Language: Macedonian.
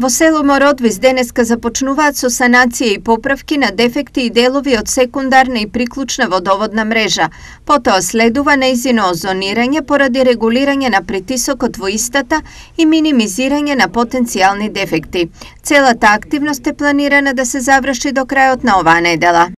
Во село Мородвис денеска започнуваат со санација и поправки на дефекти и делови од секундарна и приклучна водоводна мрежа. Потоа следува нејзино озонирање поради регулирање на притисокот во истата и минимизирање на потенцијални дефекти. Целата активност е планирана да се заврши до крајот на оваа недела.